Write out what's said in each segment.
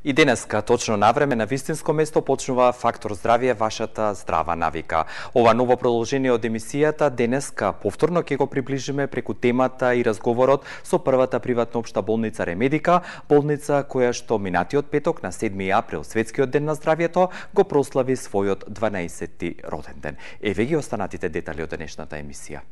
И денеска, точно на време, на вистинско место почнува Фактор здравје, вашата здрава навика. Ова ново продолжение од емисијата денеска повторно ќе го приближиме преку темата и разговорот со првата приватна општа болница Ремедика, болница која што минатиот петок на 7 април, Светскиот ден на здравјето, го прослави својот 12-ти роден ден. Еве ги останатите детали од денешната емисија.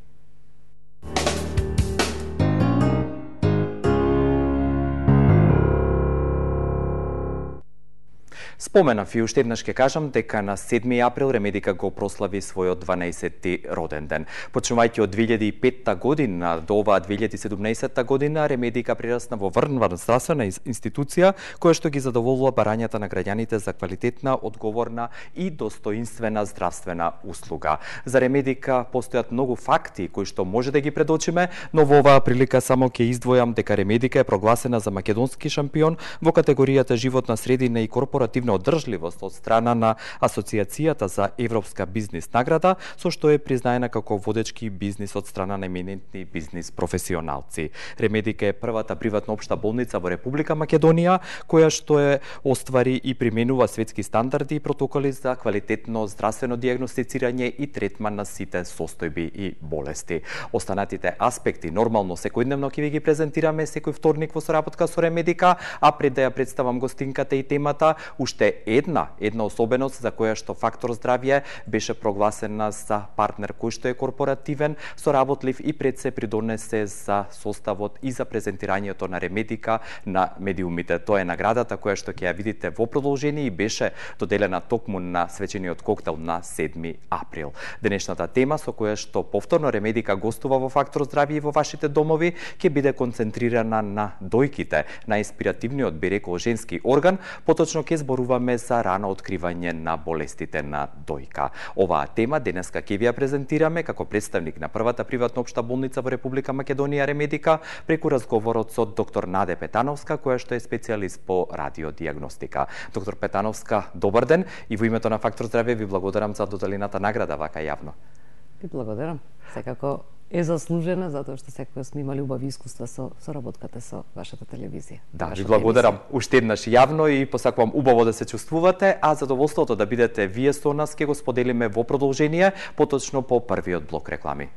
Споменав и уште еднаш ќе кажам дека на 7 април Ремедика го прослави својот 12-ти роден ден. Почнувајќи од 2005 година до оваа 2017 година, Ремедика прерасна во врвна здравствена институција која што ги задоволува барањата на граѓаните за квалитетна, одговорна и достоинствена здравствена услуга. За Ремедика постојат многу факти кои што може да ги предочиме, но во оваа прилика само ќе издвојам дека Ремедика е прогласена за македонски шампион во категоријата животна средина и корпоративна одржливост од страна на Асоцијацијата за европска бизнис награда, со што е признаена како водечки бизнис од страна на еминентни бизнис професионалци. Ремедика е првата приватна општа болница во Република Македонија, која што е оствари и применува светски стандарди и протоколи за квалитетно здравствено дијагностицирање и третман на сите состојби и болести. Останатите аспекти нормално секојдневно ќе ви ги презентираме секој вторник во соработка со Ремедика, а пред да ја представам гостинката и темата, уште една особеност за која што Фактор здравје беше прогласена за партнер кој што е корпоративен, соработлив и пред се придонесе за составот и за презентирањето на Ремедика на медиумите. Тоа е наградата која што ќе ја видите во продолжение и беше доделена токму на свечениот коктел на 7 април. Денешната тема со која што повторно Ремедика гостува во Фактор здравје и во вашите домови ќе биде концентрирана на дојките, на инспиративниот би рекол женски орган, поточно ќе зборуваме за рано откривање на болестите на дојка. Оваа тема денеска ќе ви ја презентираме како представник на првата приватна општа болница во Република Македонија Ремедика преку разговорот со доктор Наде Петановска, која што е специјалист по радиодијагностика. Доктор Петановска, добар ден и во името на Фактор здравје ви благодарам за доделената награда вака јавно. Ви благодарам. Секако е заслужена затоа што секогаш сме имали убави искуства со работката со вашата телевизија. Да, ви благодарам уште еднаш јавно и посакувам убаво да се чувствувате, а задоволството да бидете вие со нас ќе го споделиме во продолжение, поточно по првиот блок реклами.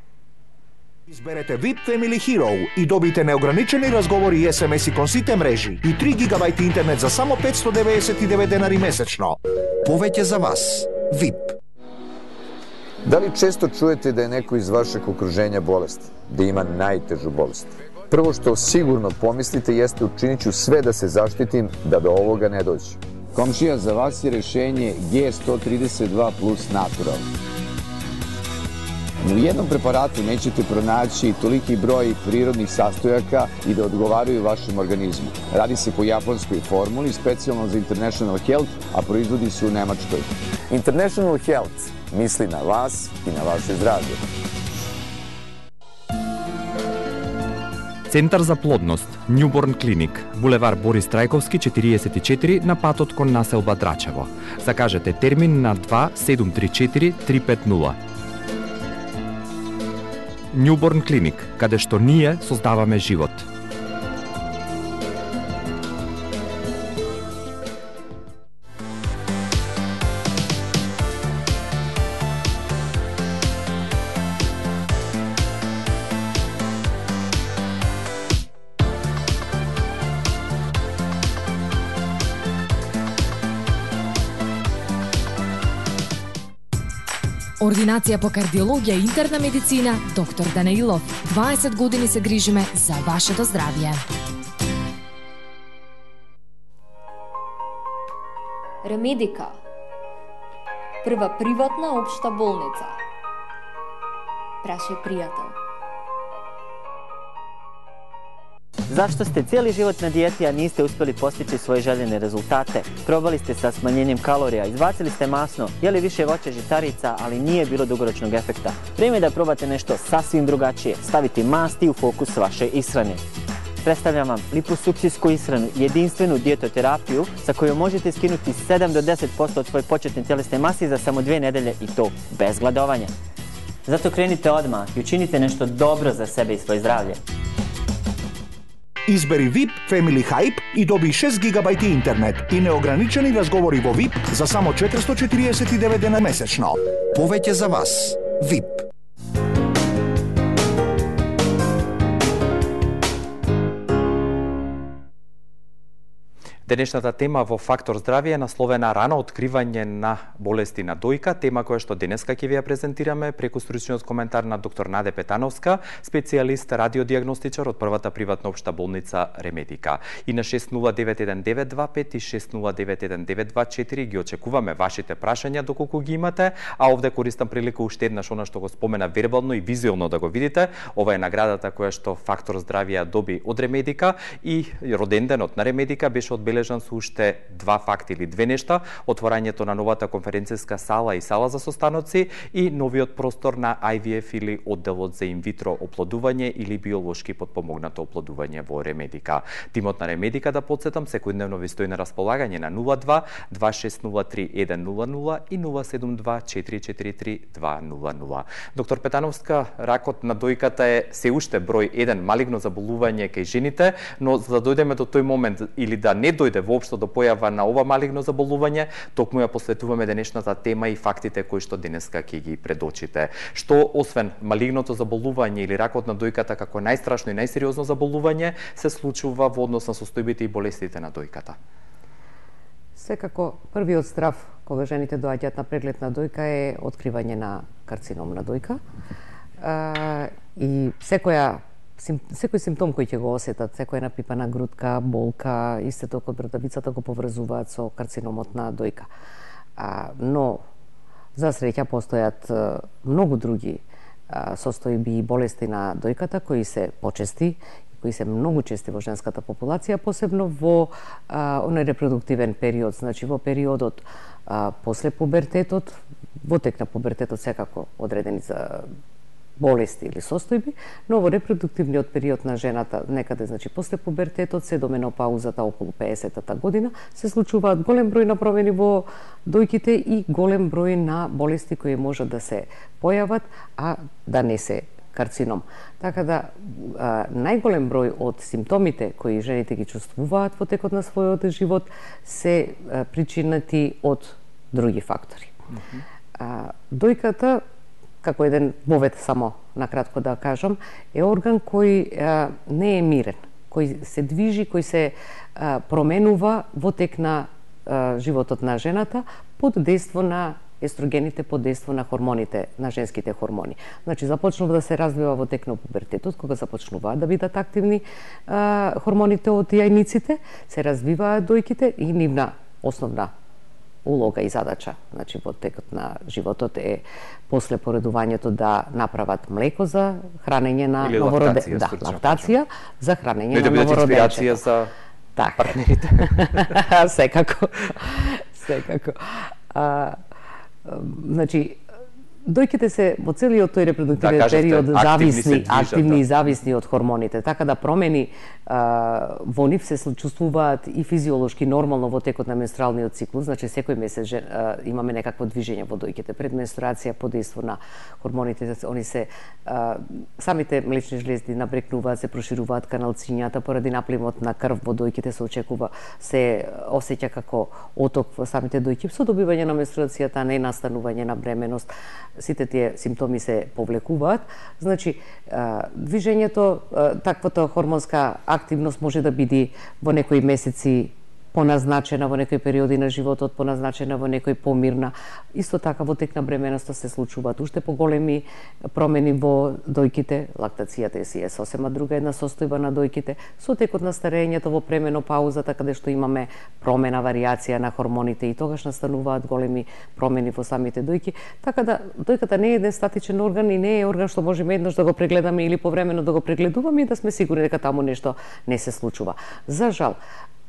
Изберете VIP Family Hero и добите неограничени разговори и SMS-и кон сите мрежи и 3 гигабајти интернет за само 599 денари месечно. Повеќе за вас. VIP. Дали често чуете да е некој из вашeg окружења болест, да има најтежу болест? Прво што сигурно помислите јесте учиниću све да се заштитим да до овога не доđe. Комшија, за вас е решение G132 Plus Natural. Ни у jednom preparatu nećete pronaći toliki broj prirodnih sastojaka i da odgovaraju vašem organizmu. Radi se po japanskoj formuli, specijalno za International Health, a proizvodi se u Nemačkoj. International Health misli na vas i na vaše zdravlje. Центар за плодност, Newborn Clinic, булевар Борис Трајковски 44 на патот кон населба Драчево. Закажете термин на 2734 350. Newborn Clinic, каде што ние создаваме живот. Ординација по кардиологија и интерна медицина, доктор Данаилов. 20 години се грижиме за вашето здравје. Ремедика. Прва приватна општа болница. Прашај пријател. Zašto ste cijeli život na dijeti, a niste uspjeli postići svoje željene rezultate? Probali ste sa smanjenjem kalorija, izbacili ste masno, jeli više voća žitarica, ali nije bilo dugoročnog efekta. Vrijeme je da probate nešto sasvim drugačije, staviti masti u fokus vaše ishrane. Predstavljam vam liposukcijsku ishranu, jedinstvenu dijetoterapiju sa kojom možete skinuti 7 do 10% od svoje početne tjelesne mase za samo 2 nedelje i to bez gladovanja. Zato krenite odmah i učinite nešto dobro za sebe i svoje zdravlje. Избери VIP Family Hype и доби 6 гигабајти интернет и неограничени разговори во VIP за само 449 дена месечно. Повеќе за вас. VIP. Денешната тема во Фактор здравје е насловена рано откривање на болести на дојка, тема која што денеска ќе ви ја презентираме преку стручниот коментар на доктор Наде Петановска, специјалист радиодиагностичар од првата приватна општа болница Ремедика. И на 60919225 и 60919224 ги очекуваме вашите прашања доколку ги имате, а овде користам прилика уште еднаш она што го спомена вербално и визуелно да го видите. Ова е наградата која што Фактор здравје доби од Ремедика и роденденот на Ремедика беше одбележан со уште два факти или две нешта: отворањето на новата конференцијска сала и сала за состаноци и новиот простор на IVF или одделот за инвитро оплодување или биолошки потпомогнато оплодување во Ремедика. Тимот на Ремедика, да подсетам, секојдневно ви стои на располагање на 02 2603 100 и 072 443 200. Доктор Петановска, ракот на дојката е се уште број 1 малигно заболување кај жените, но за да дојдеме до тој момент или да не дојде воопшто до појава на ова малигно заболување, токму ја посветуваме денешната тема и фактите кои што денеска ќе ги предочите. Што освен малигното заболување или ракот на дојката како најстрашно и најсериозно заболување се случува во однос на состојбите и болестите на дојката? Секако првиот страв кога жените доаѓаат на преглед на дојка е откривање на карцином на дојка. И секој симптом кој ќе го осетат, секоја напипана грудка, болка, истеток од брадавицата го поврзуваат со карциномот на дојка. Но, за среќа, постојат многу други состојби и болести на дојката кои се почести, кои се многу чести во женската популација, посебно во оној репродуктивен период, значи во периодот после пубертетот, во тек на пубертетот секако одредени за болести или состојби, но во репродуктивниот период на жената, некаде значи после пубертетот се до менопаузата околу 50-та година, се случуваат голем број на промени во дојките и голем број на болести кои може да се појават, а да не се карцином. Така да најголем број од симптомите кои жените ги чувствуваат во текот на својот живот се причинати од други фактори. Дојката, како еден вовед, само накратко да кажам, е орган кој не е мирен, кој се движи, кој се променува во тек на животот на жената под дејство на естрогените, под дејство на хормоните, на женските хормони. Значи, започнува да се развива во тек на пубертетот, кога започнуваат да бидат активни хормоните од јајниците, се развиваат дојките и нивна основна улога и задача, значи во текот на животот е после поредувањето да направат млеко за хранење на новороденците. Да, лактација за хранење на новороденците. Инспирација за партнерите. Секако. Секако. Значи, дојките се во целиот тој репродуктивен период активни и зависни од хормоните, така да промени во нив се чувствуваат и физиолошки нормално во текот на менструалниот циклус, значи секој месец имаме некакво движење во дојките пред менструација под дејство на хормоните, они се самите млечни жлезди набрекнуваат, се прошируваат каналцињата поради напливот на крв во дојките се очекува, се осеќа како оток во самите дојки со добивање на менструацијата, не настанување на бременост. Сите тие симптоми се повлекуваат. Значи, движењето, таквата хормонска активност може да биде во некои месеци поназначена, во некои периоди на животот поназначена, во некој помирна. Исто така во тек на бременоста се случуваат уште поголеми промени во дојките. Лактацијата е сосема друга една состојба на дојките. Со текот на старењето во пременопаузата, каде што имаме промена, варијација на хормоните и тогаш настануваат големи промени во самите дојки. Така да дојката не е еден статичен орган и не е орган што можеме еднаш да го прегледаме или повремено да го прегледуваме и да сме сигурни дека таму нешто не се случува. За жал,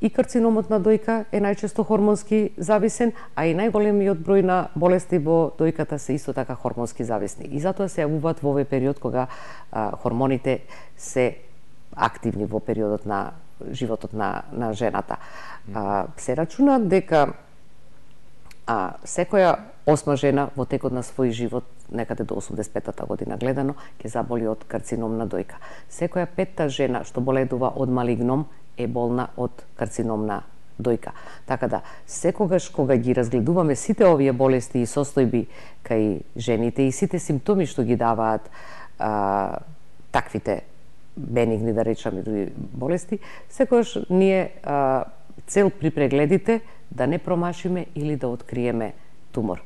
и карциномот на дојка е најчесто хормонски зависен, а и најголемиот број на болести во дојката се исто така хормонски зависни. И затоа се јавуваат во овој период кога хормоните се активни во периодот на животот на жената. Се рачуна дека А секоја 8 жена во текот на свој живот, некаде до 85-та година гледано, ќе заболи од карцином на дојка. Секоја 5-та жена што боледува од малигном е болна од карцином на дојка. Така да, секогаш кога ги разгледуваме сите овие болести и состојби кај жените и сите симптоми што ги даваат таквите бенигни, да речеме, други болести, секогаш ние цел при прегледите да не промашиме или да откриеме тумор.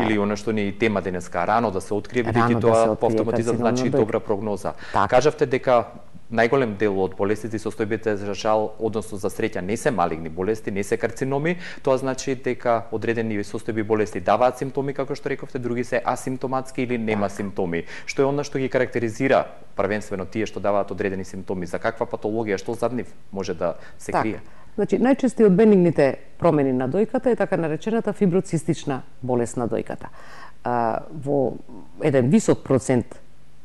Или она што ни е тема денеска, рано да се открие, бидејќи тоа по автоматизам значи добра прогноза. Кажавте дека најголем дел од болестите и состојбите за жал, односно за среќа, не се малигни болести, не се карциноми, тоа значи дека одредени состојби болести даваат симптоми, како што рековте, други се асимптоматски или нема симптоми. Што е она што ги карактеризира првенствено тие што даваат одредени симптоми? За каква патологија, што зад нив може да се крие? Значи, најчести од бенигните промени на дојката е така наречената фиброцистична болест на дојката. Во еден висок процент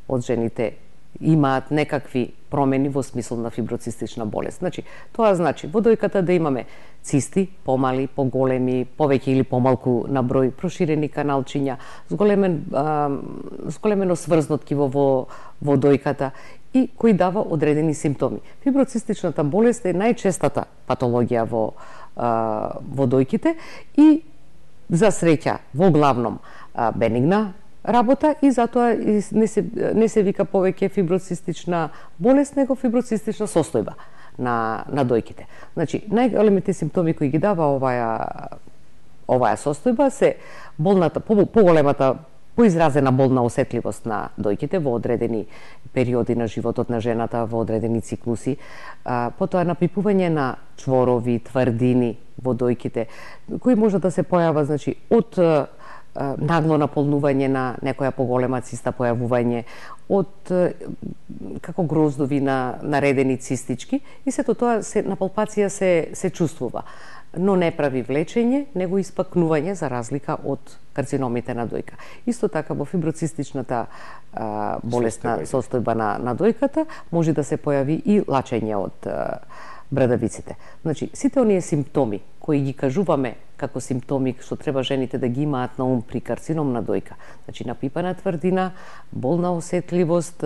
од жените имаат некакви промени во смисол на фиброцистична болест. Значи, тоа значи во дојката да имаме цисти, помали, поголеми, повеќе или помалку на број, проширени каналчиња, зголемено сврзнот ткиво во дојката и кој дава одредени симптоми. Фиброцистичната болест е најчестата патологија во дојките и за среќа во главном бенигна работа и затоа не се вика повеќе фиброцистична болест, него фиброцистична состојба на дојките. Значи, најголемите симптоми кои ги дава оваа состојба се поголемата поизразена болна осетливост на дојките во одредени периоди на животот на жената, во одредени циклуси, потоа напипување на чворови, тврдини во дојките, кои може да се појава, значи, од нагло наполнување на некоја поголема циста, појавување од како гроздови наредени цистички и сето тоа на палпација се чувствува, но не прави влечење, него испакнување за разлика од карциномите на дојка. Исто така во фиброцистичната болесна состојба на дојката може да се појави и лачење од брадавиците. Значи, сите оние симптоми кои ги кажуваме како симптоми што треба жените да ги имаат на ум при карцином на дојка, значи напипана тврдина, болна осетливост,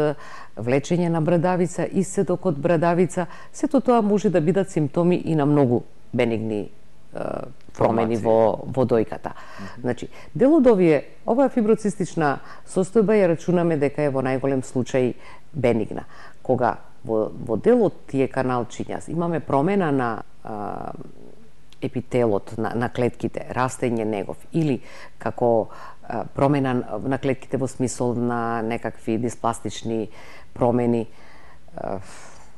влечење на брадавица, исцедок од брадавица, сето тоа може да бидат симптоми и на многу бенигни промени во дојката. Значи, дел од оваа фиброцистична состојба ја рачунаме дека е во најголем случај бенигна. Кога во дел од тие каналчиња имаме промена на епителот на клетките, растење негов или како промена на клетките во смисол на некакви диспластични промени,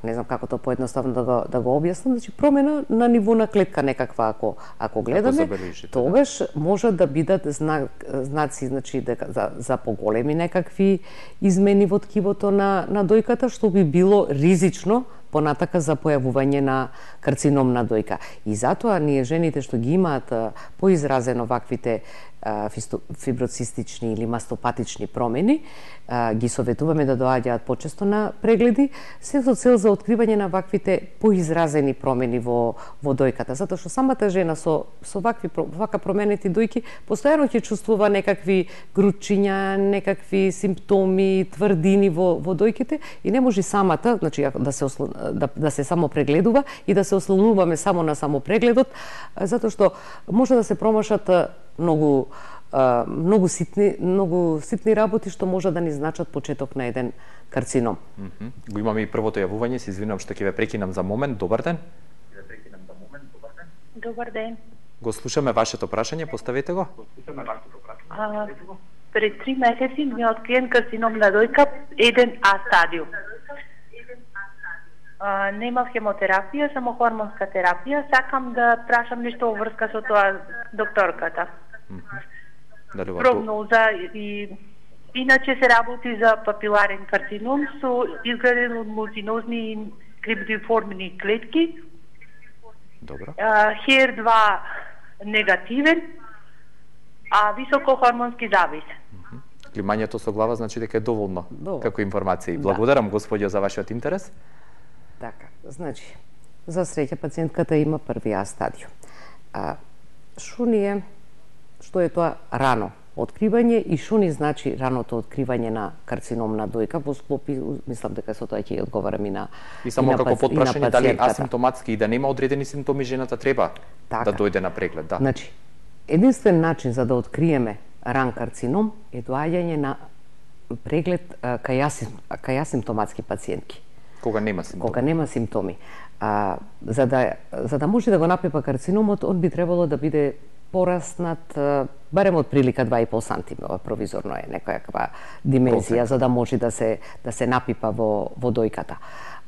не знам како тоа поедноставно да го објаснам, значи промена на ниво на клетка некаква ако гледаме, тогаш може да бидат знаци, значи дека за поголеми некакви измени во ткивото на дојката, што би било ризично понатака за појавување на карцином на дојка. И затоа ние жените што ги имаат поизразено ваквите фиброцистични или мастопатични промени, ги советуваме да доаѓаат почесто на прегледи, се со цел за откривање на ваквите поизразени промени во дојката, затоа што самата жена со вака променети дојки постојано ќе чувствува некакви грудчиња, некакви симптоми, тврдини во дојките и не може самата, значи да се само прегледува и да се ослонуваме само на самопрегледот, затоа што може да се промашат многу ситни работи што може да ни значат почеток на еден карцином. Го имаме и првото јавување, се извинувам што ќе ве прекинам за момент. Добар ден. Добар ден. Го слушаме вашето прашање, поставете го. Пред 3 месеци ми откриен карцином на дојка 1А стадиум. Немав хемотерапија, само хормонска терапија. Сакам да прашам нешто во врска со тоа докторката. Прогноза и иначе се работи за папиларен карцином со изграден од мултинозни крибдиформни клетки. Добро. HER2 негативен, а високо хормонски завис. Климањето со глава значи дека е доволно како информација. Благодарам, господјо, за вашиот интерес. Така, значи, за среќа пациентката има први А стадиум. Што ние што е тоа рано откривање и што ни значи раното откривање на карцином на дојка во склоп, мислам дека со тоа ќе ја одговарам и на и само како потпрашање дали асимптоматски и да нема одредени симптоми жената треба да дојде на преглед, да. Значи, единствен начин за да откриеме ран карцином е доаѓање на преглед кај асимптоматски пациентки. Кога нема симптоми. Кога нема симптоми. За да може да го напипа карциномот, он би требало да биде пораснат барем од прилика 2,5 сантиметра, провизорно е некоја димензија, за да може да се напипа во дојката.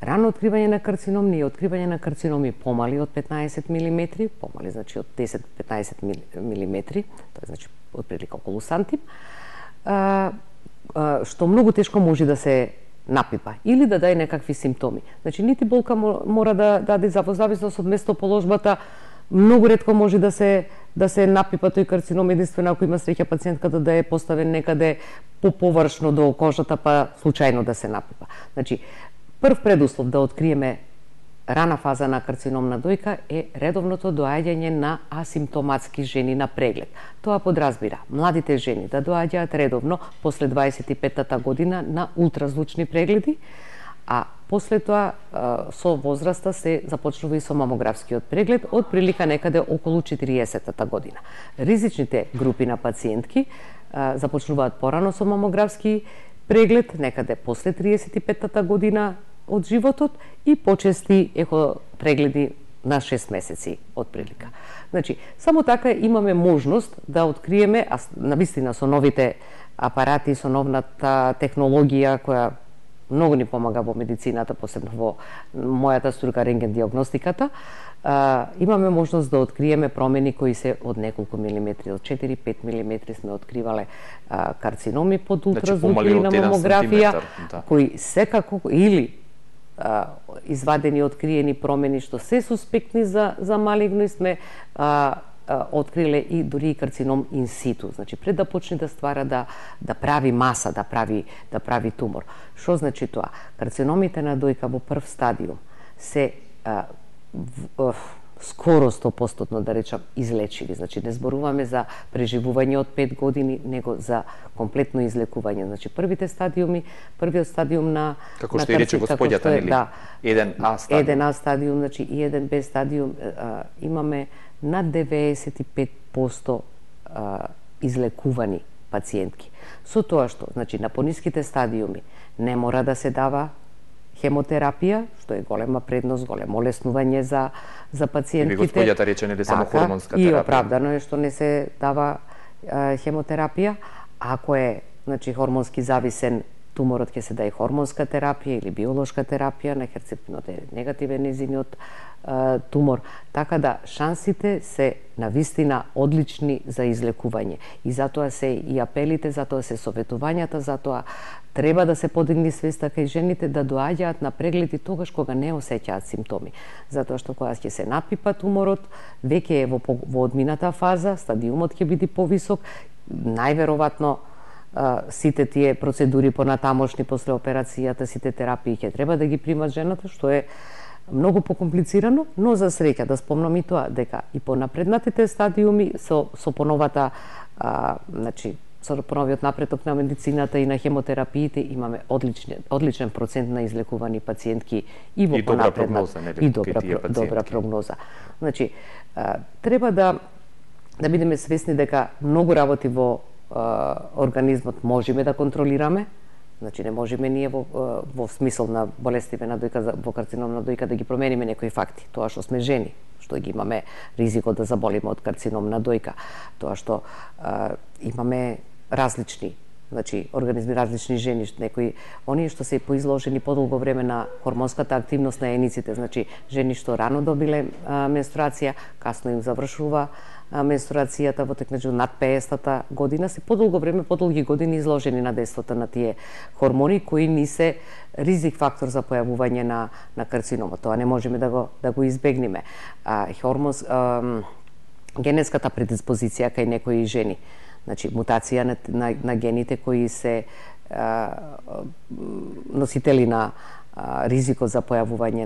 Рано откривање на карцином ни е откривање на карциноми помали од 15 мм, помали значи од 10-15 мм, тоа значи од прилика околу сантим, што многу тешко може да се напипа или да даде некакви симптоми. Значи нити болка мора да даде во зависност од местоположбата. Многу ретко може да се напипа тој карцином, единствено ако има среќа пациентката да е поставен некаде површно до кожата, па случајно да се напипа. Значи, прв предуслов да откриеме рана фаза на карцином на дојка е редовното доаѓање на асимптоматски жени на преглед. Тоа подразбира младите жени да доаѓаат редовно после 25-та година на ултразвучни прегледи, а после тоа со возраста се започнува и со мамографскиот преглед од прилика некаде околу 40-та година. Ризичните групи на пациентки започнуваат порано со мамографски преглед некаде после 35-та година од животот и почести прегледи на 6 месеци од прилика. Значи, само така имаме можност да откриеме, а навистина со новите апарати, со новната технологија која многу ни помага во медицината, посебно во мојата струка рентген диагностиката, имаме можност да откриеме промени кои се од неколку милиметри, од 4-5 милиметри сме откривале карциноми под ултразвук или на мамографија, кои секако или извадени откриени промени што се суспектни за малигно и сме откриле и дури и карцином инситу, значи пред да почне да ствара да прави маса, да прави тумор. Што значи тоа? Карциномите на дојка во прв стадиум се скоро 100% да речам излечиви, значи не зборуваме за преживување од 5 години, него за комплетно излекување. Значи првиот стадиум на како што и рече господјата, нели? Да, 1А стадиум. 1А стадиум, значи и 1Б стадиум имаме над 95% излекувани пациентки. Со тоа што, значи на пониските стадиуми не мора да се дава хемотерапија, што е голема предност, големо олеснување за пациентите. И господјата рече нели само хормонска терапија. И оправдано е што не се дава хемотерапија. Ако е, значи, хормонски зависен туморот, ќе се даде хормонска терапија или биолошка терапија на херцептинот е негативен незиниот тумор, така да шансите се навистина одлични за излекување. И затоа се и апелите, затоа се советувањата, затоа треба да се подигни свеста кај жените да доаѓаат на прегледи тогаш кога не осеќаат симптоми. Затоа што кога ќе се напипа туморот, веќе е во одмината фаза, стадиумот ќе биде повисок, најверојатно сите тие процедури понатамошни после операцијата, сите терапии ќе треба да ги примат жената, што е многу покомплицирано, но за среќа да спомнам и тоа дека и по напреднатите стадиуми со поновата значи со поновиот напредок на медицината и на хемотерапиите имаме одличен процент на излекувани пациентки и во понапредна и добра прогноза. Значи треба да бидеме свесни дека многу работи во организмот можеме да контролираме. Значи не можеме ние во смисол на болестиве на дојка, во карцином на дојка да ги промениме некои факти. Тоа што сме жени, што ги имаме ризикот да заболиме од карцином на дојка, тоа што имаме различни, значи организми различни жени, некои оние што се поизложени подолго време на хормонската активност на ениците, значи жени што рано добиле менструација, касно им завршува менструацијата во текмеѓу над 50-та година, се подолго време, подолги години изложени на действото на тие хормони кои ни се ризик фактор за појавување на карциномот. Тоа не можеме да го избегнеме. Генетската предиспозиција кај некои жени, значи мутација на гените кои се носители на ризикот за појавување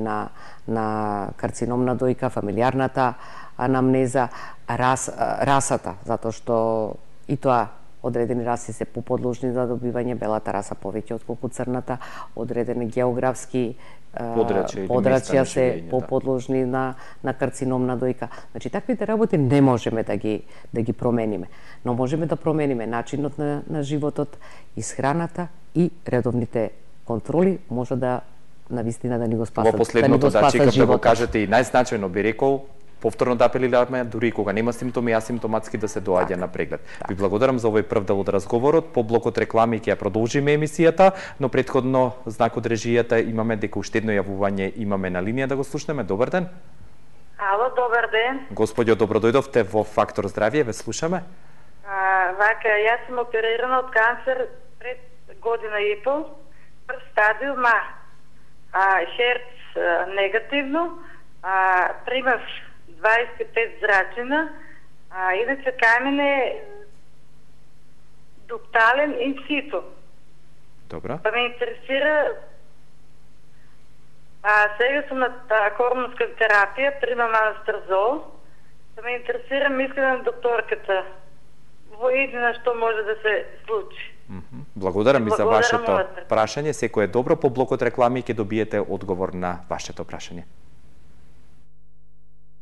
на карцином на дојка, фамилиарната анамнеза, расата, затоа што и тоа одредени раси се поподложни за добивање белата раса повеќе отколку црната, одредени географски подрачја се поподложни на карцином на дојка. Значи, таквите работи не можеме да ги промениме, но можеме да промениме начинот на животот, исхраната и редовните контроли може да навистина да ни го спасат. Во последното, да, чекам да го кажете и најзначајно би рекол, повторно да апелираме, дури кога нема симптоми, асимптоматски да се доаѓа на преглед. Ви благодарам за овој прв дел од разговорот. По блокот реклами ќе ја продолжиме емисијата, но претходно знак од режијата имаме дека уште едно јавување имаме на линија да го слушнеме. Добар ден. Ало, добар ден. Господјо, добро дојдовте во Фактор здравје, ве слушаме. Вака, јас сум оперирана од канцер пред година и пол, прв стадиум херц негативно, примав 25 зрачина, иначе кај мене дуктален инсито. Добра. Па ме интересира, сега сум на хормонска терапија, примам анастрозол, па ме интересира мислење на докторката. Во едина што може да се случи. Благодарам и за вашето прашање. Секој е добро, по блокот реклами ќе добиете одговор на вашето прашање.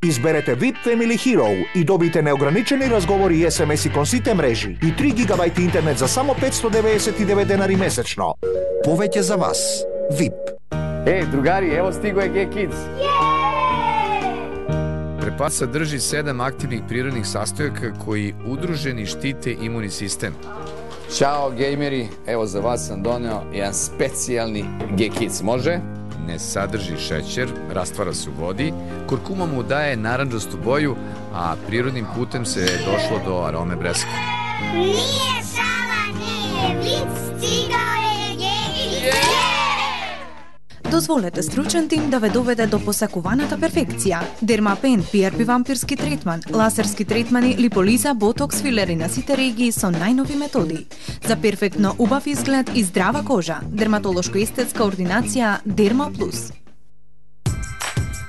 Изберете VIP Family Hero и добите неограничени разговори и SMS-и кон сите мрежи и 3 гигабајти интернет за само 599 денари месечно. Повеќе за вас. VIP. Другари, ево стиго е G-Kids. Препад садржи 7 активних природних састојака кои удружени штите имуни систем. Ćao gejmeri, evo za vas sam doneo jedan specijalni G-Kids, može? Ne sadrži šećer, rastvara se u vodi, kurkuma mu daje naranđastu boju, a prirodnim putem se došlo do arome breska. Nije šala, nije vic, stigao je G-Kids! Дозволете стручен тим да ве доведе до посакуваната перфекција. Дермапен, PRP вампирски третман, лазерски третмани, липолиза, ботокс, филери на сите регии со најнови методи. За перфектно убав изглед и здрава кожа. Дерматолошко-естетска ординација Дерма Плюс.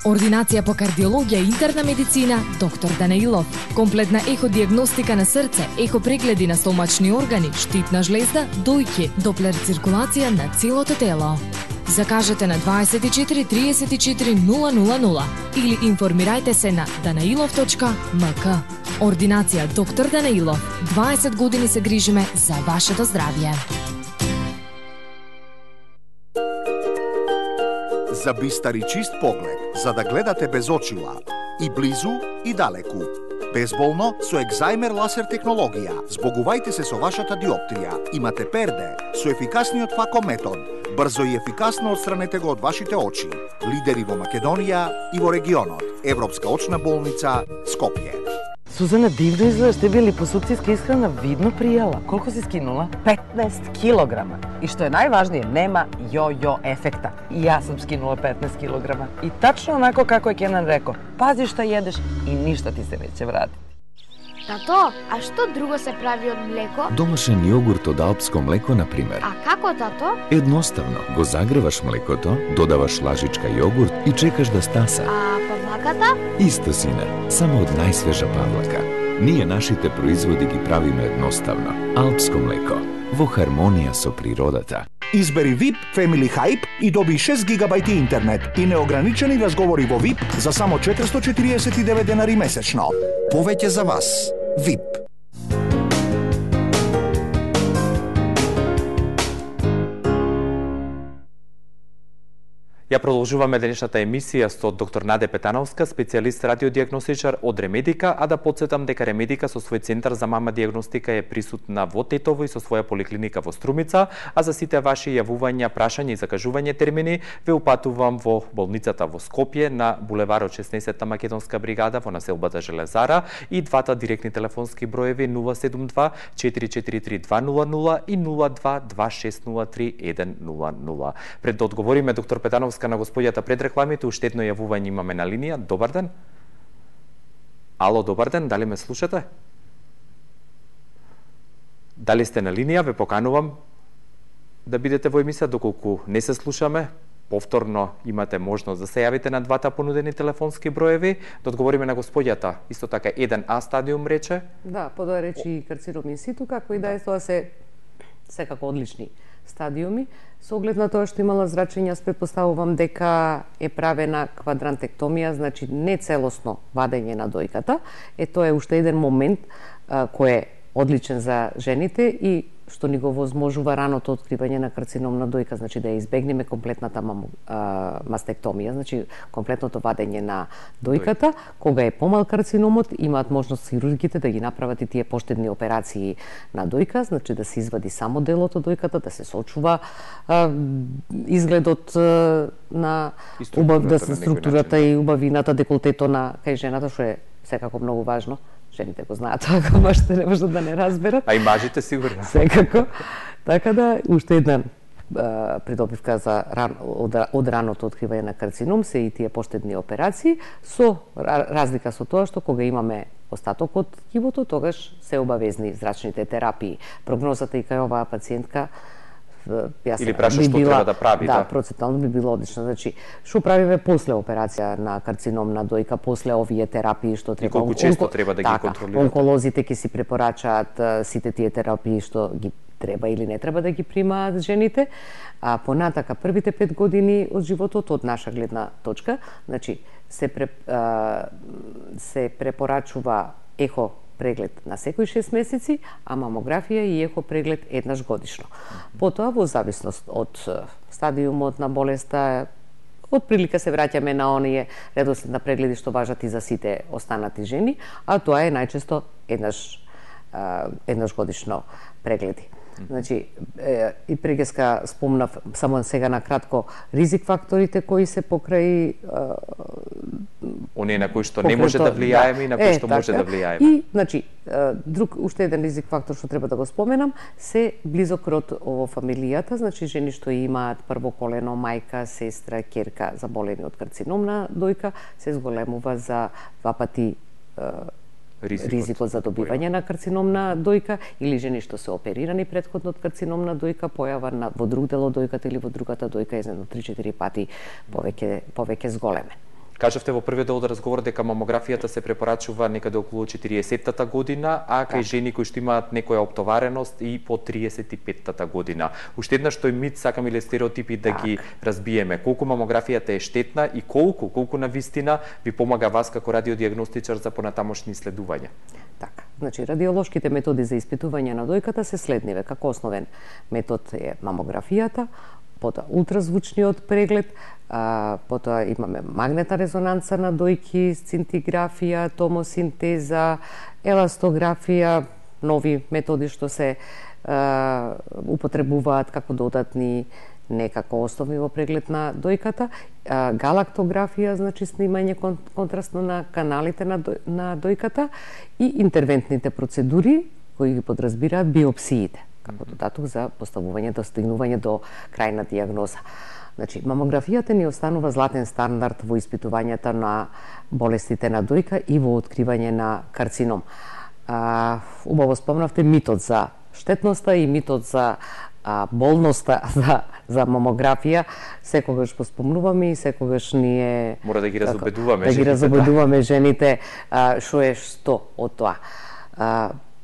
Ординација по кардиологија и интерна медицина доктор Данаилов. Комплетна еходиагностика на срце, ехопрегледи на стомачни органи, штитна жлезда, дојки, доплер циркулација на целото тело. Закажете на 24 34 000 или информирајте се на danailov.mk. Ординација доктор Данаилов. 20 години се грижиме за вашето здравје. За бистар и чист поглед, за да гледате без очила, и близу и далеку. Безболно со екзајмер лазер технологија. Збогувајте се со вашата диоптрија. Имате перде со ефикасниот факометод. Брзо и ефикасно отстранете го од вашите очи. Лидери во Македонија и во регионот. Европска очна болница Скопје. Сузана, дивно изгледаш, тебе липосукцијска исхрана видно пријала. Колку си скинула? 15 килограма. И што е најважнije, нема јо-јо ефекта. И јас сум скинула 15 килограма. И тачно онако како е Кенан реко, пази што једеш и ништо ти се неќе врати. Тато, а што друго се прави од млеко? Домашен јогурт од алпско млеко, например. А како, тато? Едноставно, го загреваш млекото, додаваш лажичка јогурт и чекаш да стаса. А павлаката? Исто, сине, само од најсвежа павлака. Ние нашите производи ги правиме едноставно. Алпско млеко, во хармонија со природата. Избери VIP Family Hype и доби 6 гигабајти интернет и неограничени разговори во VIP за само 449 денари месечно. Повеќе за вас. VIP. Ја продолжуваме денешната емисија со доктор Наде Петановска, специјалист радиодиагностичар од Ремедика, а да подсетам дека Ремедика со свој центар за мама диагностика е присутна во Тетово и со своја поликлиника во Струмица, а за сите ваши јавувања, прашања и закажување термини ве упатувам во болницата во Скопје на булеварот 16-та Македонска бригада во населбата Железара и двата директни телефонски броеви 072 443 200 и 02 2603 100. Пред да одговориме доктор Петановска на господјата пред рекламите, уште едно јавување имаме на линија. Добар ден. Ало, добар ден, дали ме слушате? Дали сте на линија? Ве поканувам да бидете во емисија, доколку не се слушаме. повторно имате можност да се јавите на двата понудени телефонски броеви, да одговориме на господјата. Исто така 1А стадиум рече. Да, подоа речи и карцином инситу, како и да е, тоа се секако одлични стадиуми. Со оглед на тоа што имала зрачење, јас претпоставувам дека е правена квадрантектомија, значи не целосно вадење на дојката. Тоа е уште еден момент кој е одличен за жените и што ни го возможува раното откривање на карцином на дојка, значи да ја избегнеме комплетната мастектомија, значи комплетното вадење на дојката. Кога е помал карциномот, имаат можност хирургите да ги направат и тие поштедни операции на дојка, значи да се извади само делото дојката, да се сочува изгледот на структурата и убавината, деколтето на кај жената, што е секако многу важно. Жените го знаат тоа, ако мажите не можат да не разберат. А и мажите сигурно. Секако. Така да, уште една придобивка за од раното откривање на карцином се и тие поштедни операции, со разлика со тоа што кога имаме остаток од ткивото, тогаш се обавезни зрачните терапии. Прогнозата и кај оваа пациентка или праша што треба да прави, да, процентуално би било одлично. Значи, што правиме после операција на карцином на дојка, после овие терапии што треба. И колку често треба да ги контролирате? Онколозите ќе си препорачаат сите тие терапии што ги треба или не треба да ги примаат жените. А понатака првите 5 години од животот од наша гледна точка, значи се препорачува ехо преглед на секој 6 месеци, а мамографија и ехо преглед еднаш годишно. Потоа, во зависност од стадиумот на болеста, од прилика се враќаме на оние редослед на прегледи што важат и за сите останати жени, а тоа е најчесто еднаш годишно прегледи. Значи, и прегеска спомнав само сега на кратко ризик факторите кои се покрај оние на кои што не може да влијаеме и на кои што може да влијаеме. И, значи, друг уште еден ризик фактор што треба да го споменам се близок род во фамилијата, значи жени што имаат прво колено, мајка, сестра, ќерка заболени од карцином на дојка, се зголемува за 2 пати ризикот за добивање на карцином на дојка или жени што се оперирани претходно од карцином на дојка, појава во друг дел од дојката или во другата дојка едно 3-4 пати повеќе зголемен. Кажавте во првиот дел од разговор дека мамографијата се препорачува некаде околу 40-тата година, а кај жени кои што имаат некоја оптовареност и по 35-тата година. Уште еднаш тој мит сакам или стереотипи да ги разбиеме. Колку мамографијата е штетна и колку на вистина ви помага вас како радиодиагностичар за понатамошни исследувања? Така, значи радиолошките методи за испитување на дојката се следниве. Како основен метод е мамографијата, потоа ултразвучниот преглед, потоа имаме магнетна резонанца на дојки, сцинтиграфија, томосинтеза, еластографија, нови методи што се употребуваат како додатни некако основи во преглед на дојката, галактографија, значи снимање контрастно на каналите на дојката и интервентните процедури кои ги подразбираат биопсиите како додаток за поставување, достигнување до крајна дијагноза. Значи, мамографијата ни останува златен стандард во испитувањата на болестите на дојка и во откривање на карцином. Убаво спомнавте митот за штетноста и митот за болноста за мамографија, секогаш го спомнуваме и секогаш ние мора да ги разобедуваме жените. Да ги разобедуваме жените што е што од тоа.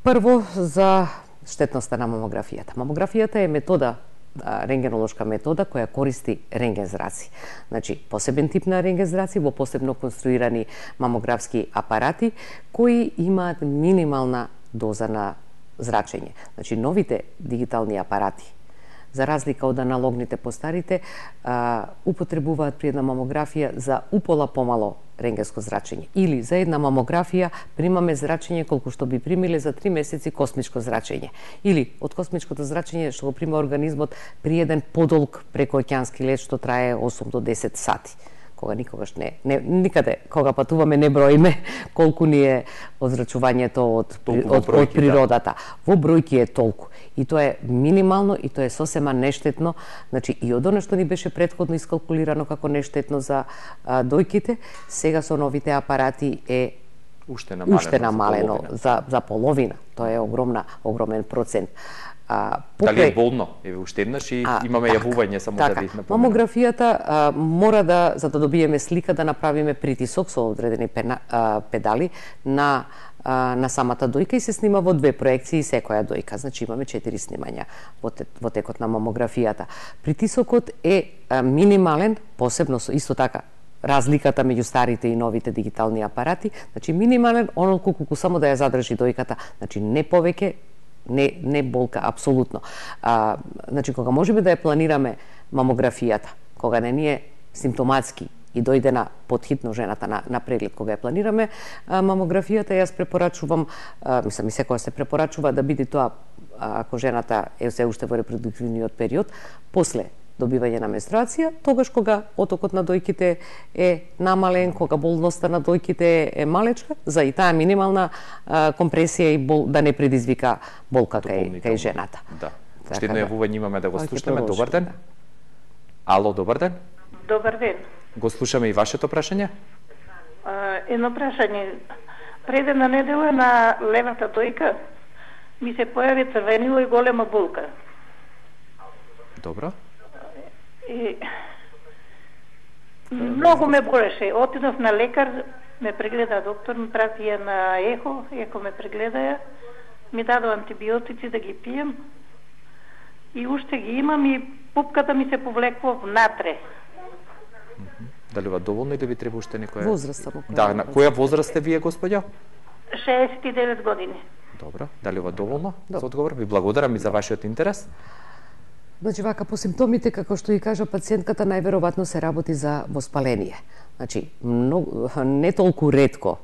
Прво за штетноста на мамографијата. Мамографијата е метода, рентгенолошка метода која користи рентген зраци. Значи, посебен тип на рентген зраци во посебно конструирани мамографски апарати кои имаат минимална доза на зрачење. Значи, новите дигитални апарати, за разлика од аналогните постарите, употребуваат при една мамографија за упола помало рентгенско зрачење. Или за една мамографија примаме зрачење колку што би примиле за 3 месеци космичко зрачење. Или од космичкото зрачење што го прима организмот при еден подолг прекоокеански лет што трае 8 до 10 сати. Кога никогаш никаде, кога патуваме не броиме колку ни е озрачувањето од природата. Во бројки е толку. И тоа е минимално и тоа е сосема нештетно. Значи, и од оно што ни беше претходно искалкулирано како нештетно за дојките, сега со новите апарати е уште намалено за половина. Тоа е огромен процент. Дали е болно? Еве уште еднаш и имаме јавување само да ви напомнам. Мамографијата мора да, за да добиеме слика, да направиме притисок со одредени педали на самата дојка и се снима во 2 проекции секоја дојка. Значи имаме 4 снимања во текот на мамографијата. Притисокот е минимален, посебно исто така разликата меѓу старите и новите дигитални апарати, значи минимален, онолку колку само да ја задржи дојката, значи не повеќе, не болка апсолутно. Значи кога можеме да ја планираме мамографијата, кога не ни е симптоматски и дојде на подхитно жената на преглед, кога ја планираме мамографијата, јас препорачувам, мислам и секоја се препорачува да биде тоа ако жената е се уште во репродуктивниот период, после добивање на менструација, тогаш кога отокот на дојките е намален, кога болноста на дојките е малечка, за и таа минимална компресија и да не предизвика болка кај жената. Да. Уште едно јавување имаме да го слушнеме. Добар ден. Ало, добар ден. Добар ден. Го слушаме и вашето прашање. Едно прашање. Пред една недела на левата дојка ми се појави црвенило и голема болка. Добро. И многу ме болеше. Отидов на лекар, ме прегледа доктор, ми прати ја на ехо ме прегледа, ми дадо антибиотици да ги пием и уште ги имам и пупката ми се повлекува внатре. Дали ова доволно или ви треба уште некоја... Возраст само. Да, на која возраст сте вие, господја? 69 години. Добро, дали ова доволно за одговор? Ви благодарам и за вашиот интерес. Значи, вака, по симптомите, како што и кажа пациентката, најверојатно се работи за воспаление. Значи, не толку ретко,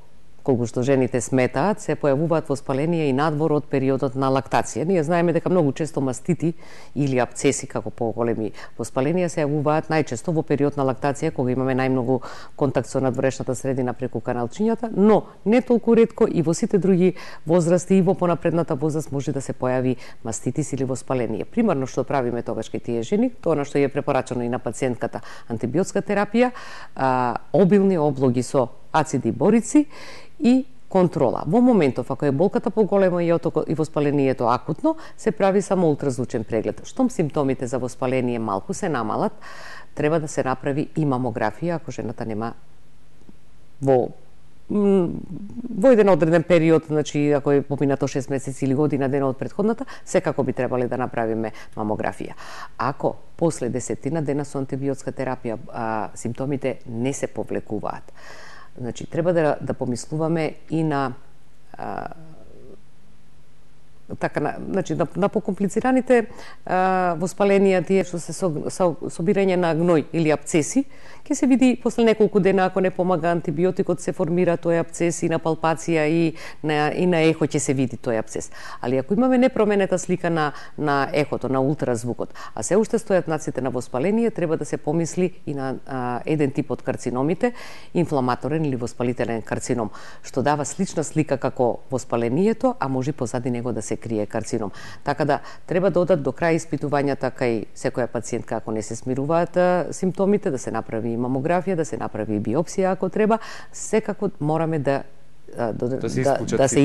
колку што жените сметаат, се појавуваат воспаление и надвор од периодот на лактација. Ние знаеме дека многу често мастити или апцеси, како поголеми воспаленија, се јавуваат најчесто во период на лактација, кога имаме најмногу контакт со надворешната средина преку каналчињата, но не толку ретко и во сите други возрасти и во понапредната возраст може да се појави маститис или воспаление. Примарно што правиме тогаш кај тие жени, тоа на што е препорачано и на пациентката антибиотска терапија, обилни облоги со ациди борици и контрола. Во моментов, ако е болката поголема и воспалението акутно, се прави само ултразвучен преглед. Штом симптомите за воспаление малку се намалат, треба да се направи и мамографија, ако жената нема во еден одреден период, значи ако е поминато 6 месеци или година дена од претходната, секако би требале да направиме мамографија. Ако после 10 дена со антибиотска терапија симптомите не се повлекуваат, значи, треба да помислуваме и на на покомплицираните воспаленија, тие што се собирање на гној или апцеси, ќе се види после неколку дена, ако не помага антибиотикот, се формира тој апцес и на палпација и на ехо ќе се види тој апцес. Али ако имаме непроменета слика на ехото, на ултразвукот, а се уште стојат знаците на воспаление, треба да се помисли и на еден тип од карциномите, инфламаторен или воспалителен карцином, што дава слична слика како воспалението, а може позади него да се крие карцином. Така да треба да одат до крај испитувањата кај секоја пациентка ако не се смируваат симптомите, да се направи мамографија, да се направи биопсија ако треба, секако мораме да се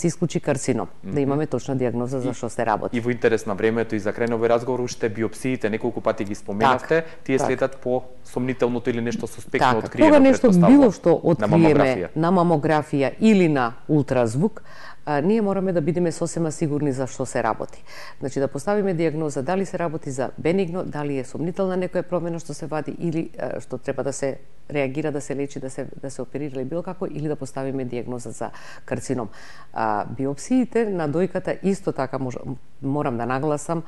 исклучи карцином, да имаме точна дијагноза за што се работи. И во интерес на времето и за крај на овој разговор, уште биопсиите неколку пати ги споменавте, тие следат по сомнителното или нешто суспектно откриено, кога нешто било што откриеме на мамографија или на ултразвук, ние мораме да бидеме сосема сигурни за што се работи. Значи да поставиме дијагноза дали се работи за бенигно, дали е сомнителна некоја промена што се вади или што треба да се реагира, да се лечи, да се оперира или било како, или да поставиме дијагноза за карцином. Биопсиите на дојката исто така морам да нагласам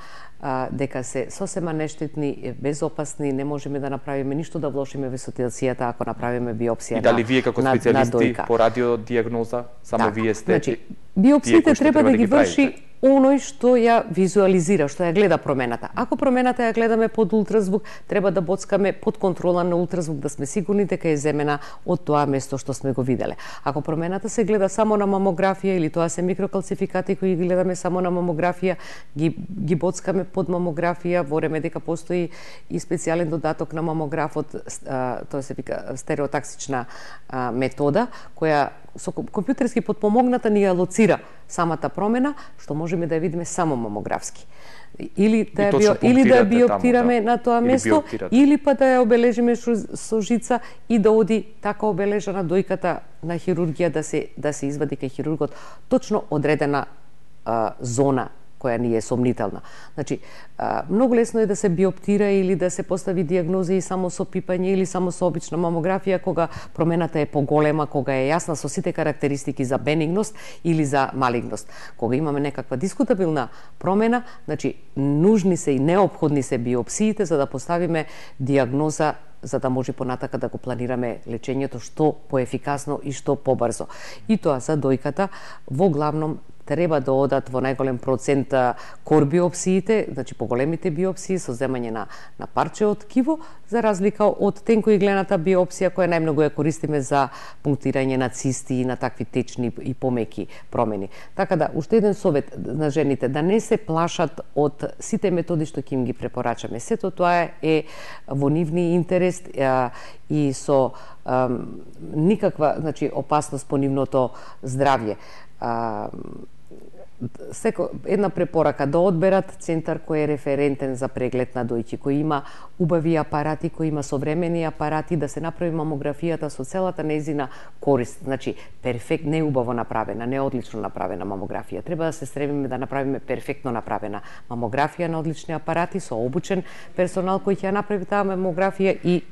дека се сосема нештетни, безопасни, не можеме да направиме ништо да влошиме во ситуацијата ако направиме биопсија на дојка. И дали вие како специјалисти по радиодијагноза, само вие сте? Значи, биопсиите треба да ги врши оној што ја визуализира, што ја гледа промената. Ако промената ја гледаме под ултразвук, треба да боцкаме под контрола на ултразвук, да сме сигурни дека е земена од тоа место што сме го виделе. Ако промената се гледа само на мамографија или тоа се микрокалцификати кои ги гледаме само на мамографија, ги боцкаме под мамографија, вораме дека постои и специјален додаток на мамографот, тоа се вика стереотаксична метода, која со компјутерски подпомогната ни ја лоцира самата промена, што можеме да ја видиме само мамографски. Или да ја биоптираме на тоа место, или па да ја обележиме со жица и да оди така обележана дојката на хирургија да се извади кај хирургот точно одредена зона која ни е сомнителна. Значи, многу лесно е да се биоптира или да се постави дијагноза и само со пипање или само со обична мамографија, кога промената е поголема, кога е јасна со сите карактеристики за бенигност или за малигност. Кога имаме некаква дискутабилна промена, значи, нужни се и неопходни се биопсиите за да поставиме дијагноза, за да може понатака да го планираме лечењето што поефикасно и што побрзо. И тоа за дојката во главном треба да одат во најголем процент кор биопсиите, значи поголемите биопсии со земање на парче од ткиво, за разлика од тенкоиглената биопсија која најмногу ја користиме за пунктирање на цисти и на такви течни и помеки промени. Така да, уште еден совет на жените, да не се плашат од сите методи што ќе им ги препорачаме. Сето тоа е во нивни интерес и со никаква, значи, опасност по нивното здравје. Една препорака да одберат центар кој е референтен за преглед на дојки, кој има убави апарати, кој има современи апарати, да се направи мамографијата со целата нејзина корист. Значи, не убаво направена, не одлично направена мамографија. Треба да се стремиме да направиме перфектно направена мамографија на одлични апарати со обучен персонал кој ќе ја направи таа мамографија и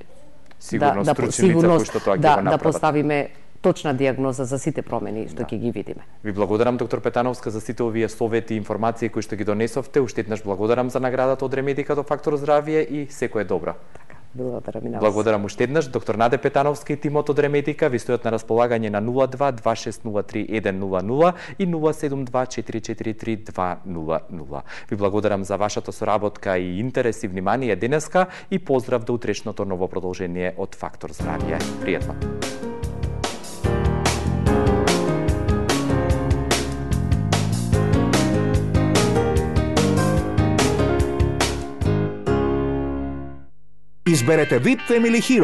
да поставиме точна дијагноза за сите промени што ќе ги видиме. Ви благодарам, доктор Петановска, за сите овие совети и информации кои што ги донесовте. Уште еднаш благодарам за наградата од Ремедика до Фактор здравје и секое добро. Така, благодарам и на вас. Благодарам уште еднаш. Доктор Наде Петановска и тимот од Ремедика ви стојат на располагање на 02-2603-100 и 072-443-200. Ви благодарам за вашата соработка и интерес и внимание денеска и поздрав до утрешното ново продолжение од Фактор здравје. Пријатно. Изберете VIP Family Hero.